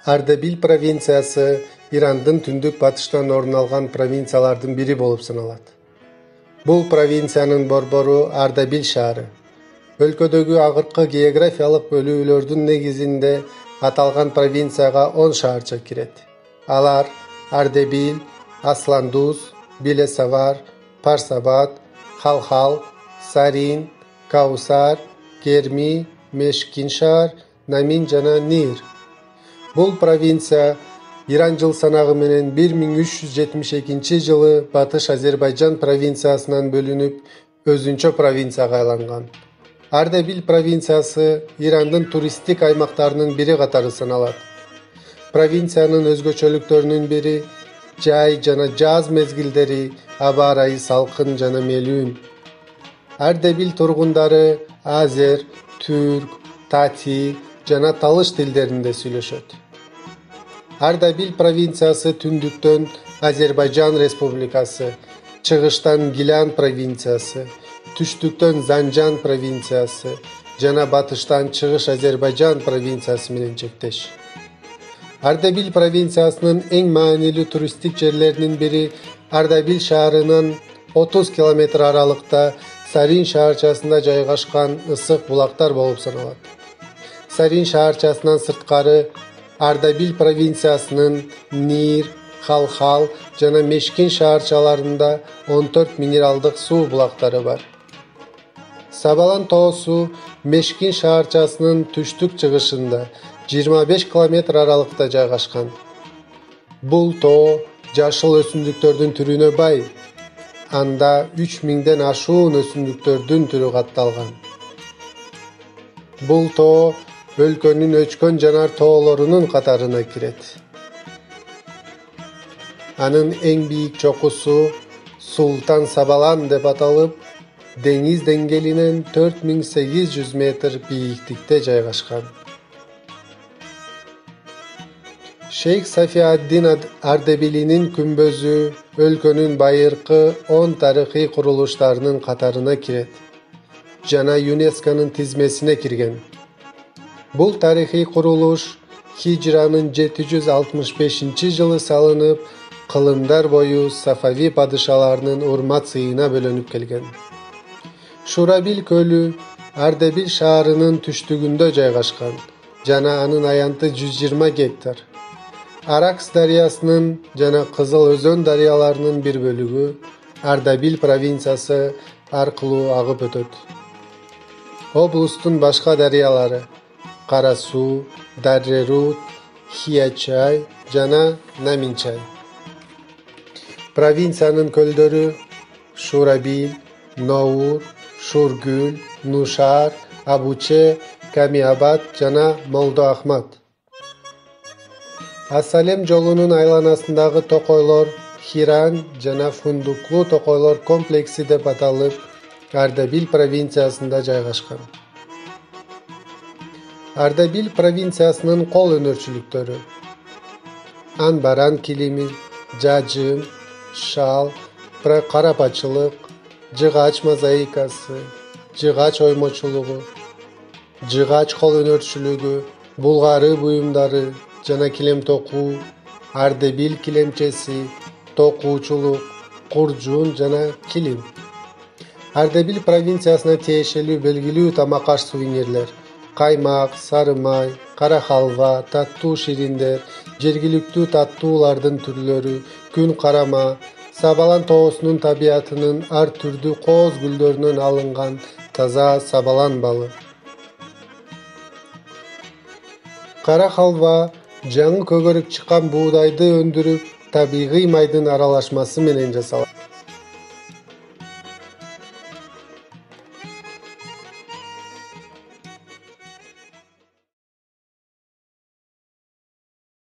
Ардебиль провинциясы Ирандын түндүк батыштан орун алган провинциялардын бири болуп саналат. Бул провинциянын борбору Ардебиль шаары. Өлкөдөгү акыркы географиялык бөлүүлөрдүн негизинде аталган провинцияга 10 шаарча кирет. Алар Ардебиль, Асландуз, Билесавар, Парсабад, Халхал, Сарин, Каусар, Керми, Мешкиншаар, Намин жана Нир. Бул провинция Иран жыл санагы менен 1372 жылы Батыш Азербайжан провинциясынан бөлүнүп, өзүнчө провинцияга айланган. Ардебиль провинциясы Ирандын туристтик аймактарынын бири катары саналат. Провинциянын өзгөчөлүктөрүнүн бири жай жана жаз мезгилдери аба ырайы салкын жана мелүүн. Ардебиль тургундары азер, түрк, тати жана талыш тилдеринде сүйлөшөт. Ардебиль провинциясы түндүктөн Азербайжан республикасы, чыгыштан Гилян провинциясы, түштүктөн Занжан провинциясы жана батыштан Чыгыш Азербайжан провинциясы менен чектеш. Ардебиль провинциясынын эң маанилүү туристтик жерлеринин бири Ардебиль шаарынан 30 км аралыкта Сарин шаарчасында жайгашкан ысык булактар болуп саналат. Сарин шаарчасынан сырткары Ардебиль провинциясынын Нир, Халхал жана Мешкин шаарчаларында 14 минералдык суу булактары бар. Сабалан тоосу Мешкин шаарчасынын түштүк-чыгышында 25 км аралыкта жайгашкан. Бул тоо жашыл өсүмдүктөрдүн түрүнө бай. Анда 3000ден ашуун өсүмдүктөрдүн түрү катталган. Бул тоо өлкөнүн өчкөн жанар тоолорунун катарына кирет. Анын эң бийик чокусу Султан Сабалан деп аталып, деңиз деңгээлинен 4800 метр бийиктикте жайгашкан. Шейх Сафиаддин Ардебилинин күмбөзү өлкөнүн байыркы 10 тарыхый курулуштарынын катарына кирет жана ЮНЕСКОнун тизмесине кирген. Бул тарыхый курулуш Хижранын 765 жылы салынып, кылымдар бою Сафави падышаларынын урмат сыйына бөлөнүп келген. Шурабиль көлү Ардебиль шаарынын түштүгүндө жайгашкан жана анын аянты 120 гектар. Аракс дарыясынын жана Кызыл өзөн дарыяларынын бир бөлүгү Ардебиль провинциясы аркылуу агып өтөт. Облустун башка дарыялары Кара суу, Даррерут, Хиячай жана Наминчай. Провинциянын көлдөрү Шурабиль, Ноур, Шургүл, Нушар, Абуче, Камиабад жана Молдо Ахмад. Асалем жолунун айланасындагы токойлор Хиран жана Фундуклуу токойлор комплекси деп аталып, Ардебиль провинциясында жайгашкан. Ардебиль провинциясынын кол өнөрчүлүктөрү: анбаран килими, жажын, шал, карапачылык, жыгач мозаикасы, жыгач оймочулугу, жыгач кол өнөрчүлүгү, булгары буюмдары жана килем токуу, Ардебиль килемчеси, токуучулук, куржун жана килим. Ардебиль провинциясына тиешелүү белгилүү тамак-аш сувенирлер: каймак, сары май, кара халва, таттуу шириндер, жергиликтүү таттуулардын түрлөрү, күн карама, Сабалан тоосунун табиятынын ар түрдүү кооз гүлдөрүнөн алынган таза сабалан балы. Кара халва жаңы көгөрүп чыккан буудайды өндүрүп, табигый майдын аралашмасы менен жасалат.